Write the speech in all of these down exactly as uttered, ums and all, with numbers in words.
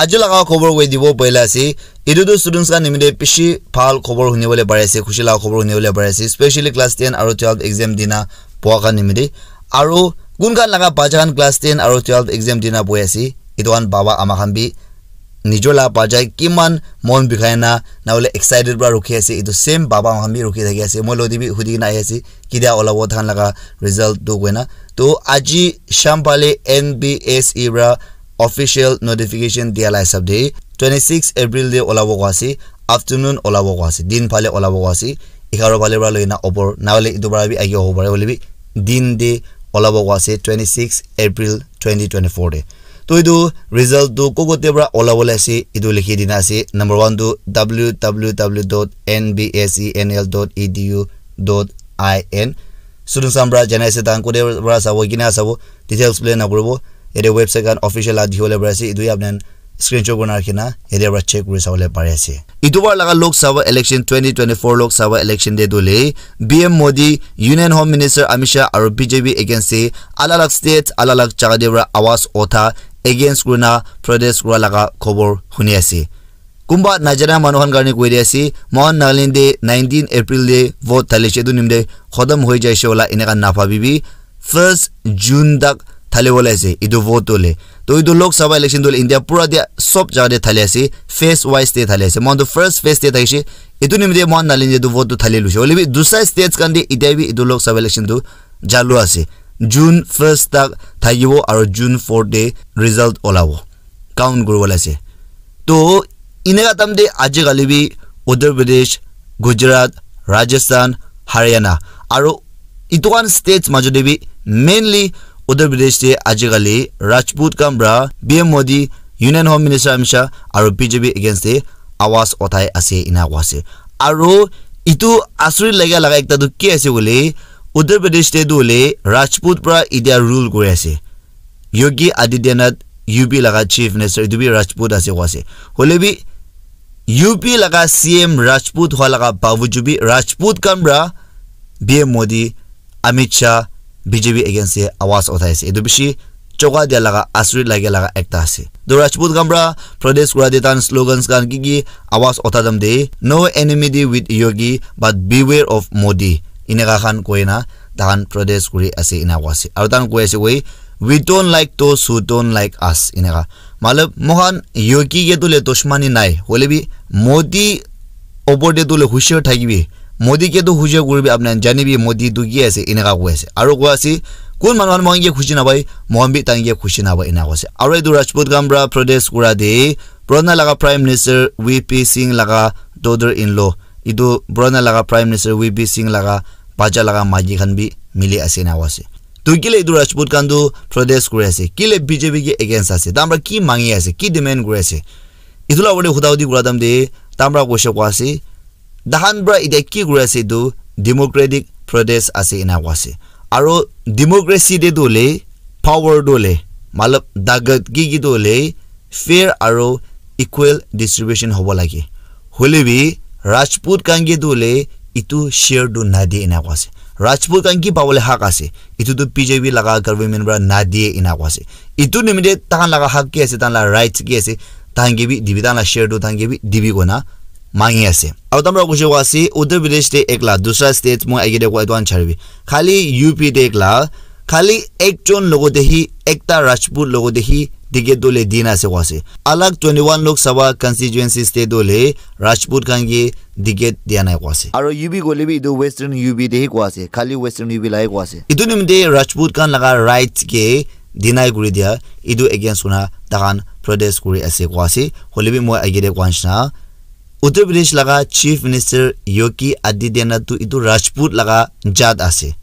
Aji laga khobor koi dibo boila ase. Etu tu students khan nimite bishi bhal khobor huni bole pari ase, khushi laga khobor huni bole pari ase, specially class ten aru twelve exam dina boa khan nimite. Aru kun khan laga bacha khan class ten aru twelve exam dina bohi ase, etu khan baba ama khan bi nijor laga bacha kiman mon bikhai na, na hole excited para rukhi ase, etu same baba ama khan bi rukhi thaki ase. Moi lodi bi hudi kena ahi ase, ketia olabo thakan laga result tu koina. To aji sham phale N B S E para official notification dia la hisab de twenty-six April de olabo ko ase, afternoon olabo ko ase, din phale olabo ko ase, egharo phale para loina opor, na hole etu para bi age hobo pare, hole bi din de olabo ko ase, twenty-six April twenty twenty-four de. To etu result tu ko kote para olabo le ase, etu likhi dina ase. Number one tu W W W dot N B S E N L dot E D U dot I N. Students khan para janai ase, tahan kote para sabo, kina sabo, details explain nakuribo. Yate website khan official la dikhi bole pari ase, etu ya apni khan screenshot kurina rakhi na yate para check kuri sabole pari ase. Etu bar laga Lok Sabha election, twenty twenty-four Lok Sabha election te tu le P M Modi, Union Home Minister Amit Shah aru B J P against te alag alag state, alag alag jaga te para awaz utha, against kurina protest kura laga khobor huni ase. Kunba najana manu khan karne koi di ase, mohan Nagaland te nineteen April te vote thali she, etu nimite khotom hoi jai she wala eneka na bhabibi, first June tak thali bole ase etu vote tu le. To etu Lok Sabha election tu le India pura te sob jaga te thali ase, phase wise te thali ase. Mohan tu first phase te thakishe, etu nimite mohan Nagaland te etu vote tu thali lushe. Hoile bi dusra states khan te itya bi etu Lok Sabha election tu jalu ase. June first tak thakibo aru June four te result olabo, count kuribole ase. To eneka time te aji kali bi Uttar Pradesh, Gujarat, Rajasthan, Haryana aru etu khan states majo te bi, mainly Uttar Pradesh te aji kali Rajput khan para P M Modi, Union Home Minister Amit Shah aru B J P against te awaz uthai ase ena koa ase. Aru etu asuri laga laga ekta tu ki ase koile, Uttar Pradesh te tu hoile Rajput para itya rule kuri ase. Yogi Adityanath, U P laga Chief Minister, etu bi Rajput ase koa ase. Hoile bi U P laga C M Rajput hua laga bawajud bi Rajput khan para P M Modi, Amit Shah, B J P against te awaz uthai ase. Etu bishi choka dia laga, asuri laga laga ekta ase. To Rajput khan para protest kura te tahan slogans khan ki ki awaz utha time te, "No enmity with Yogi, but beware of Modi." Eneka khan koi na tahan protest kuri ase ena koa ase. Aru tahan koi ase koi, "We don't like those who don't like us." Eneka. Matlab, mohan Yogi ke tu le dushmani nai. Hoile bi Modi opor te tu le hushar thakibi. Modi ke tu hushar kuribi, apni khan janibi Modi tu ki ase, eneka koi ase. Aru koi ase, kun manu khan mohan ke khushi napai, mohan bi tahan ke khushi napai, eneka koi ase. Aru etu Rajput khan para protest kura te, purana laga Prime Minister V P Singh laga daughter in law, etu purana laga Prime Minister V P Singh laga bacha laga maiki khan bi mili ase, eneka koi ase. To kile etu Rajput khan tu protest kuri ase? Kile B J P ke against ase? Tahan para ki mangi ase? Ki demand kuri ase? Etu la opor te huda hudi kura time te tahan para koise koa ase, tahan para itya ki kuri ase etu democratic protest ase ena koa ase. Aru democracy te tu hoile power tu hoile, matlab, takat ki ki tu hoile fair aru equal distribution hobo lage. Hoile bi Rajput khan ke tu hoile etu share tu nadiye ena koa ase. Rajput khan ki pabole hak ase, etu tu B J P laga government para nadiye ena koa ase. Etu nimite tahan laga hak ki ase, tahan laga rights ki ase, tahan ke bi dibi, tahan laga share tu tahan ke bi dibi koina mangi ase. Aru tahan para koise koa ase, Uttar Pradesh te ekla, dusra state moi age te koa etu khan charibi. Khali U P te ekla, khali ekjon logote hi, ekta Rajput logote hi ticket tu hoile dina ase koa ase. Alag twenty-one Lok Sabha constituencies te tu hoile Rajput khan ke ticket dia nai koa ase. Aru U P koile bi etu Western U P te hi koa ase, khali Western U P la hi koa ase. Etu nimite Rajput khan laga rights ke deny kuri dia, etu against kurina tahan protest kuri ase koa ase. Hoile bi moi age te koa nishina, Uttar Pradesh laga Chief Minister Yogi Adityanath tu etu Rajput laga jat ase.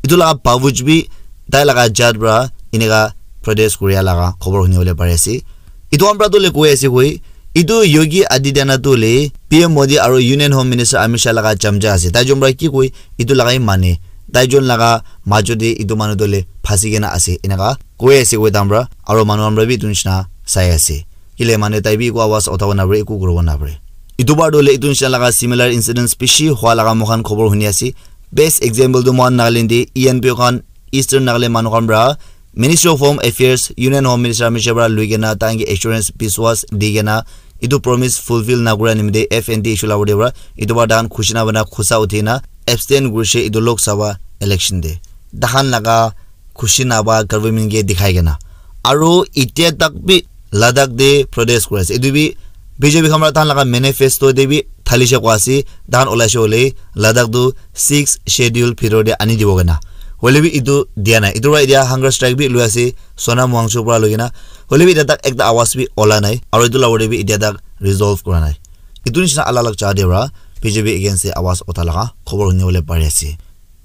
Etu laga bawajud bi tai laga jat para eneka protest kuria laga khobor huni bole pari ase. Etu khan para tu hoile koi ase koi, etu Yogi Adityanath tu hoile P M Modi aru Union Home Minister Amit Shah laga chamcha ase. Tai jon para ki koi, etu laga hi mane. Tai jon laga majo te etu manu tu hoile phasi kena ase, eneka koi ase koi tahan para. Aru manu khan para bi etu nishina sai ase. Kile mane tai bi eku awaz uthabo napare, eku kuribo napare. Etu bar tu hoile etu nishina laga similar incidents bishi hua laga moikhan khobor huni ase. Best example tu mohan Nagaland de E N P O khan, Eastern Nagaland manu khan pra Ministry of Home Affairs, Union Home Minister Amit Shah pra lui kena tahan ke assurance biswas di kena etu promise fulfill na kura nimite F N T issue la wade pra etu pra tahan khushi na bana khusa uthi na abstain kurishe etu Lok Sabha election de. Tahan laga khushi na ba government ke dikhai kena. Aru itia tak bi Ladakh de protest kuri ase. Etu bi B J P khan pra tahan laga manifesto de bi thalishe kwa ase, tahan olaishe hole Ladakh tu six schedule bhitor de ani dibo kena. Hoile bi etu dia nai. Etu pra itia hunger strike bi lui ase, Sonam Wangchuk pra lui kena. Hoile bi itia tak ekta awas bi ola nai. Aru etu la wade bi itia tak resolve kura nai. Etu nishina alag alag jaga de pra B J P against de awas utha laga khobor huni bole pari ase.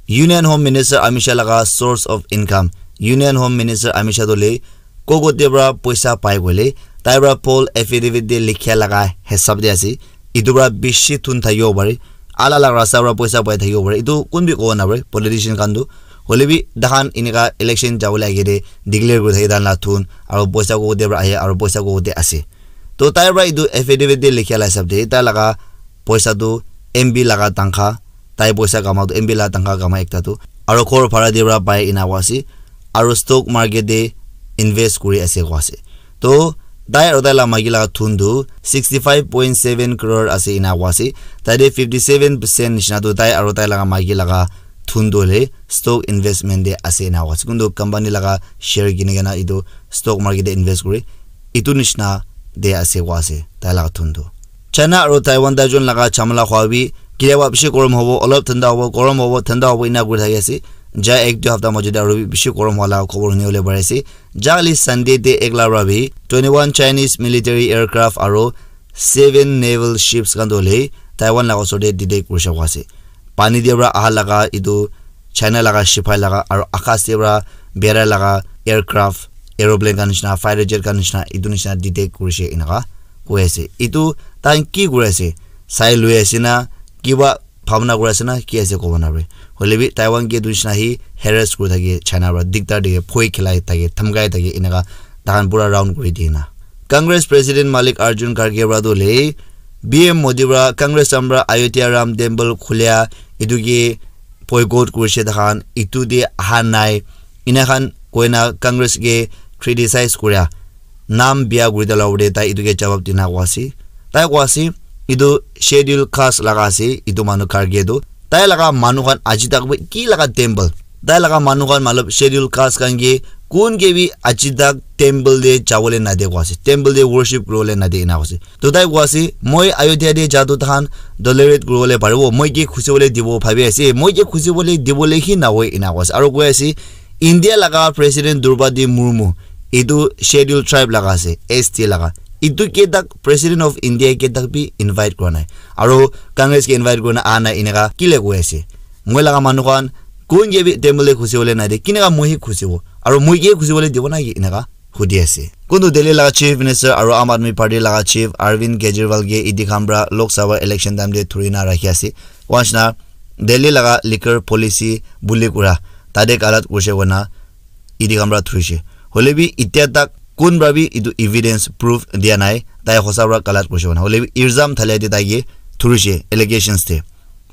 Union Home Minister Amit Shah laga source of income. Union Home Minister Amit Shah tu le kogo te pra poisa pai koile, tai pra poll affidavit de likhia laga hisab de ase. Etu pra bishi thun thakibo pare. Alag alag rasta pra poisa pai thakibo pare. Etu kun bi kobo na pare, politician khan tu. Hoile bi tahan eneka election jabole age de declare kuri thake tahan la thun, aru poisa kogo te pra ahe, aru poisa kogo te ase. To tai pra etu affidavit de likhia la hisab de, tai laga poisa tu M P laga tangkha, tai poisa kama tu M P laga tangkha kama ekta tu, aru ghor bhara de pra pai ena koa ase, aru stock market de invest kuri ase koa ase. To tai aru tai la maiki laga thun tu sixty five point seven crore ase ena koa ase. Tai de fifty seven percent nishina tu tai aru tai laga maiki laga thun tu hoile stock investment de ase ena koa ase. Kuntu company laga share kini kena etu stock market de invest kuri, etu nishina de ase koa ase tai laga thun tu. China aru Taiwan taijon laga chamala khwa bi kitiaba bishi gorom hobo, olop thanda hobo, gorom hobo, thanda hobo ena kuri thaki ase. Ja ek dui hapta majot de aru bi bishi gorom hwa laga khobor huni bole pari ase. Ja kali Sunday de ekla pra bi twenty one Chinese military aircraft aru seven naval ships khan tu hoile Taiwan laga osor de detect kurishe koa ase. Pani de pra aha laga etu China laga sipai laga aru akas de pra bera laga aircraft, aeroplane khan nishina, fighter jet khan nishina, etu nishina detect kurishe eneka koi ase. Etu tahan ki kuri ase? Sai lui ase na, kiba bhabna kuri ase na, ki ase kobo na pare. Hoile bi Taiwan ke etu nishina hi harass kuri thake, China pra diktar dike, bhoi khilai thake, dhamkai thake, eneka tahan pura round kuri diye na. Congress President Mallikarjun Kharge pra tu hoile P M Modi pra Congress khan pra Ayodhya Ram Temple khulia etu ke boycott kurishe, tahan etu de aha nai, ena khan koina Congress ke criticize kuria, nam bia kuri dala ure tai etu ke jawab dina koa ase. Tai koa ase etu schedule caste laga ase etu manu Kharge tu. Tai laga manu khan aji tak bi ki laga temple, tai laga manu khan matlab schedule caste khan ke kun ke bi aji tak temple de jabole nade koa ase, temple de worship kuribole nade ena koa ase. To tai koa ase, moi Ayodhya de ja tu tahan tolerate kuribole paribo, moi ke khusi bole dibo bhabi ase, moi ke khusi bole dibole hi nahoi ena koa ase. Aru koi ase, India laga President Droupadi Murmu, etu schedule tribe laga ase, S T laga. Etu ke tak President of India ke tak bi invite kura nai. Aru Congress ke invite kurina aha nai eneka kile koi ase. Moi laga manu khan kun ke bi temple de khusi bole nade, kineka moi hi khusi bo? Aru moi ke khusi bole dibo na ki eneka hudi ase. Kuntu Delhi laga Chief Minister aru Aam Aadmi Party laga Chief Arvind Kejriwal ke E D khan pra Lok Sabha election time de thuri na rakhi ase. Koa nishina Delhi laga liquor policy bully kura, tate galat kurishe koina E D khan pra thurishe. Hoile bi itia tak kun pra bi etu evidence proof dia nai, tai hosa pra galat kurishe koina. Hoile bi ilzam thalia de tai ke thurishe, allegations de.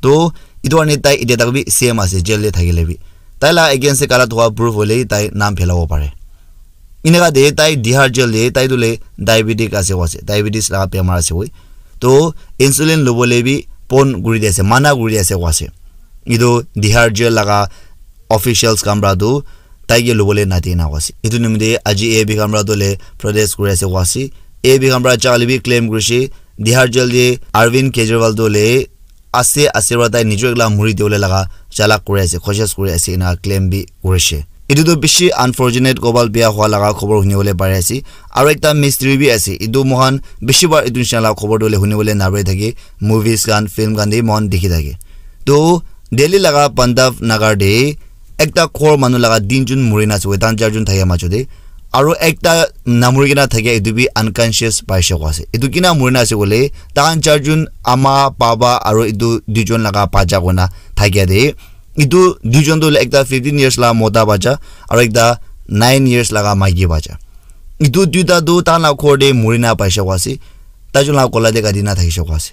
To etu karne tai itia tak bi same ase, jail de thakile bi. Tai la against de galat hua proof hoile tai naam phelabo pare. Eneka de tai Tihar jail de tai tu le diabetic ase koa ase, diabetes laga bemar ase koi. To insulin lobole bi pon kuri di ase, mana kuri di ase koa ase. Etu Tihar jail laga officials khan pra tu tai ke lobole nade ena koa ase. Etu nimite aji A A P khan pra tu le protest kuri ase koa ase. A A P khan pra ja kali bi claim kurishe, Tihar jail de Arvind Kejriwal tu le ase ase pra tai nijor ekla muri dibole laga chalak kuri ase, koshish kuri ase ena claim bi kurishe. Etu tu bishi unfortunate, kobal bia hua laga khobor huni bole pari ase. Aru ekta mystery bi ase. Etu moikhan bishi bar etu nishina laga khobor tu hoile huni bole na pari thake. Movies khan, film khan de moikhan dikhi thake. To Delhi laga Pandav Nagar de ekta ghor manu laga tinjon muri na ase, tahan charjon thakia majot de. Aru ekta namuri kena thakia etu bi unconscious paishe koa ase. Etu kina muri na ase koile, tahan charjon ama, baba aru etu duijon laga bacha koina thakia de. Etu duijon tu hoile ekta fifteen years laga mota bacha aru ekta nine years laga maiki bacha. Etu duita tu tahan laga ghor de muri na paishe koa ase. Taijon laga gola de kati na thakishe koa ase.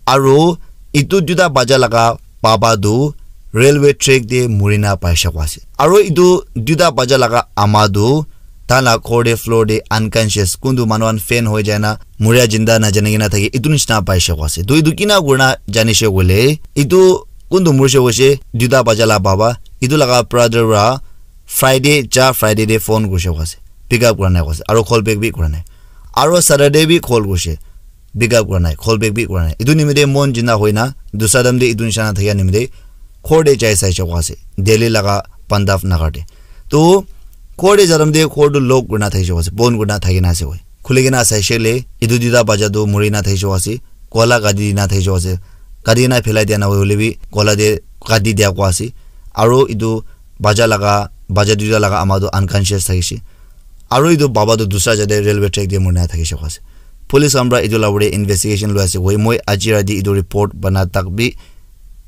Aru etu duita bacha laga baba tu railway track te murina paisha koa ase. Aro etu duita bacha laga ama tu tai la ghor te floor te unconscious, kuntu manu khan faint hoi jai na muria jinda najani kena thake, etu nishina paisha koa ase. To etu kina kurina janishe koile, etu kuntu murishe koishe, duita bacha la baba, etu laga brother para Friday, ja Friday te phone kurishe koa ase, pick up kura nai koa ase, aro call back bi kura nai. Aro Saturday bi call kurishe, pick up kura nai, call back bi kura nai. Etu nimite mon jina hoina, dusra time te etu nishina thakia nimite ghor te jai saishe koa ase, Delhi laga Pandav Nagar te. To ghor te ja time te ghor tu lock kurina thakishe koa ase, bon kurina thakina ase koi. Khuli kena saishe le, etu duita bacha tu murina thakishe koa ase, koala kati dina thakishe koa ase. Kati kena phelai dia nahoi hoile bi koala te kati dia koa ase. Aro etu bacha laga, bacha duita laga ama tu unconscious thakishe. Aro etu baba tu dusra jate railway track te murina thakishe koa ase. Police khan para etu la ugure investigation loi ase koi. Moi aji rati etu report bana tak bi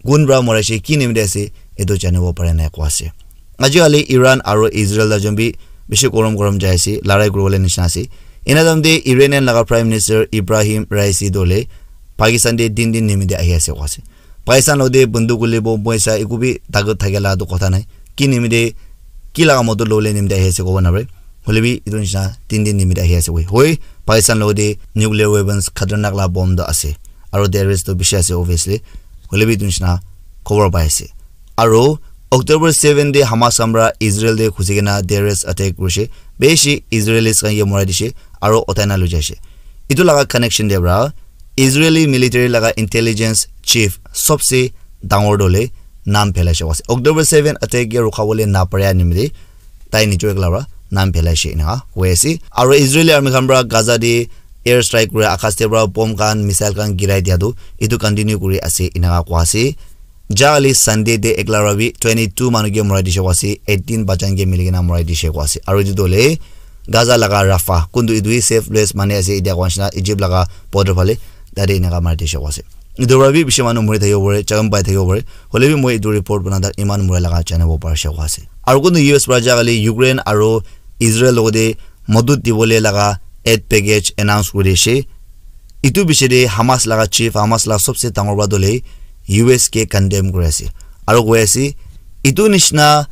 kun para muraishe, ki nimite ase, etu janibo pare nai koa ase. Aji kali Iran aro Israel la jun bi bishi gorom gorom jai ase, larai kuribole nishina ase. Ena time te Iranian laga Prime Minister Ibrahim Raisi dole Pakistan te tin din nimite ahi ase koa ase. Pakistan lo te bunduk hole bo moisa eku bi takat thake la tu kotha nai. Ki nimite, ki laga moto lole nimite ahi ase kobo na pare. Hole bi etu nishina tin din nimite ahi ase koi. Hoi, Pakistan lo te nuclear weapons khatarnak la bomb do ase. Aro terrorist to bishi ase obviously. Hole bi etu nishina khobor pai ase. Aro October seven te Hamas khan para Israel te ghusi kena terrorist attack kurishe. Bishi Israelis khan ke morai dishe. Aro otai na loi jaishe. Etu laga connection te para Israeli military laga intelligence chief sobse dangor dole nam phelaishe koa ase. October seven attack ke rukhabole napare nimite tai nijor ekla para nam phelaishe eneka koi ase. Aro Israeli army khan para Gaza te air strike kura, akas te para bomb khan, missile khan girai dia tu etu continue kuri ase eneka koa ase. Ja kali Sunday te ekla para bi twenty two manu ke morai dishe koa ase, eighteen bachan ke mili kena morai dishe koa ase. Aro etu tu hole Gaza laga Rafah, kuntu etu hi safe place mane ase, etia koa nishina Egypt laga border phale, tate eneka mari dishe koa ase. Etu para bi bishi manu mori thakibo pare, jagam pai thakibo pare. Hole bi moi etu report bana tak iman mura laga janibo parishe koa ase. Aro kuntu U S para ja kali Ukraine aro Israel logote modut dibole laga aid package announce kuri dishe. Etu bishi te Hamas laga chief, Hamas laga sobse dangor para dole U S ke condemn kuri ase. Aro koi ase, etu nishina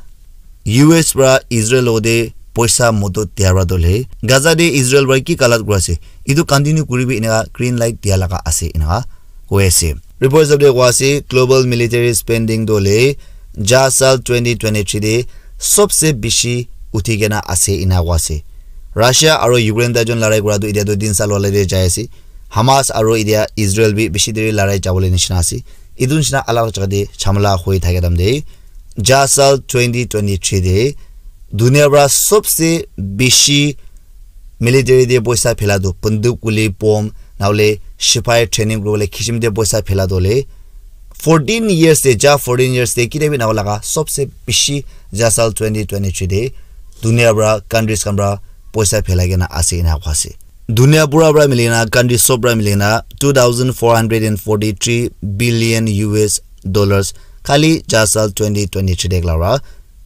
U S para Israel logote poisa modut dia para dole Gaza te Israel para ki galat kuri ase, etu continue kuri bi eneka green light dia laga ase eneka koi ase. Report hisab te koa ase, global military spending dole ja sal twenty twenty three te sobse bishi uthi kena ase eneka koa ase. Russia aro Ukraine tai jun larai kura tu etia tu tin sal wale te jai ase. Hamas aro etia Israel bi bishi deri larai jabole nishina ase. Etu nishina alag jaga te jhamala hoi thaka time te ja sal twenty twenty three te dunia para sobse bishi military te poisa phela tu bunduk guli bomb nahole sipai training kuribole kisim te poisa phela tu hole fourteen years te, ja fourteen years te kitia bi nahoi laga sobse bishi ja sal twenty twenty three te dunia para countries khan para poisa phelai kena ase ena koa ase. Dunia pura para mili kena, country sob para mili kena two thousand four hundred and forty three billion U S dollars khali ja sal twenty twenty three te ekla para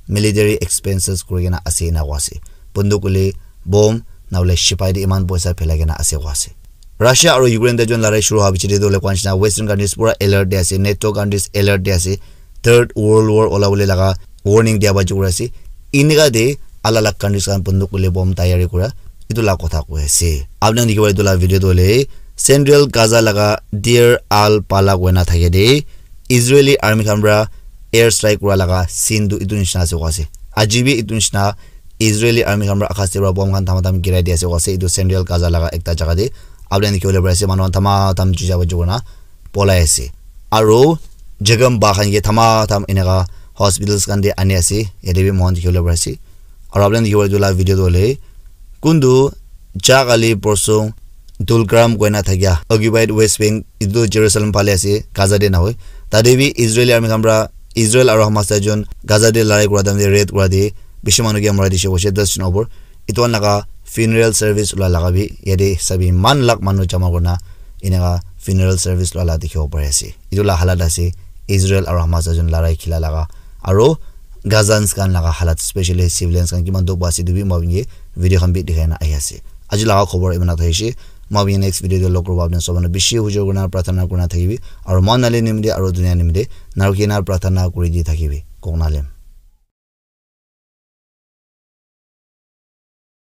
military expenses kuri kena ase ena koa ase. Bunduk guli bomb nahole sipai te iman poisa phelai kena ase koa ase. Russia aro Ukraine tai jun larai shuru howa piche te tu hoile koa nishina Western countries pura alert te ase, NATO countries alert te ase, Third World War ola bole laga warning dia ba jukura ase. Eneka te alag alag countries khan bunduk guli bomb tayari kura etu la kotha koi ase. Apni khan dikhibo etu la video tu hoile Central Gaza laga Deir al Balah koina thake te Israeli army khan para air strike kura laga scene tu etu nishina ase koa ase. Aji bi etu nishina Israeli army khan para akas te para bomb khan thama tham girai di ase koa ase. Etu Central Gaza laga ekta jaga te apni khan dikhibo le pari ase manu khan thama tham juja ba jukuna polai ase. Aro jagam ba khan ke thama tham eneka hospitals khan te ani ase. Yate bi moikhan dikhibo le pari ase. Aro apni khan dikhibo etu la video tu hoile kuntu ja kali porsong Tulkarm koina thakia occupied West Bank, etu Jerusalem phale ase, Gaza te nahoi. Tate bi Israeli army khan para Israel aro Hamas tai jun Gaza te larai kura time te raid kura te bishi manu ke mara dishe koise, das jun opor. Etu khan laga funeral service ula laga bi yate sabi eman lakh manu jama kurina eneka funeral service lua la dikhibo pari ase. Etu la halat ase Israel aro Hamas tai jun larai khila laga aro Gazans khan laga halat, specially civilians khan kiman dukh pa ase etu bi moi khan ke video khan bi dikhai na ahi ase. Aji laga khobor eman na thakishe. Moi bi next video te log koribo, apni sob manu bishi ujor kurina prarthana kurina thakibi. Aru moi nale nimite aru dunia nimite narukina prarthana kuri di thakibi. Kok nalem.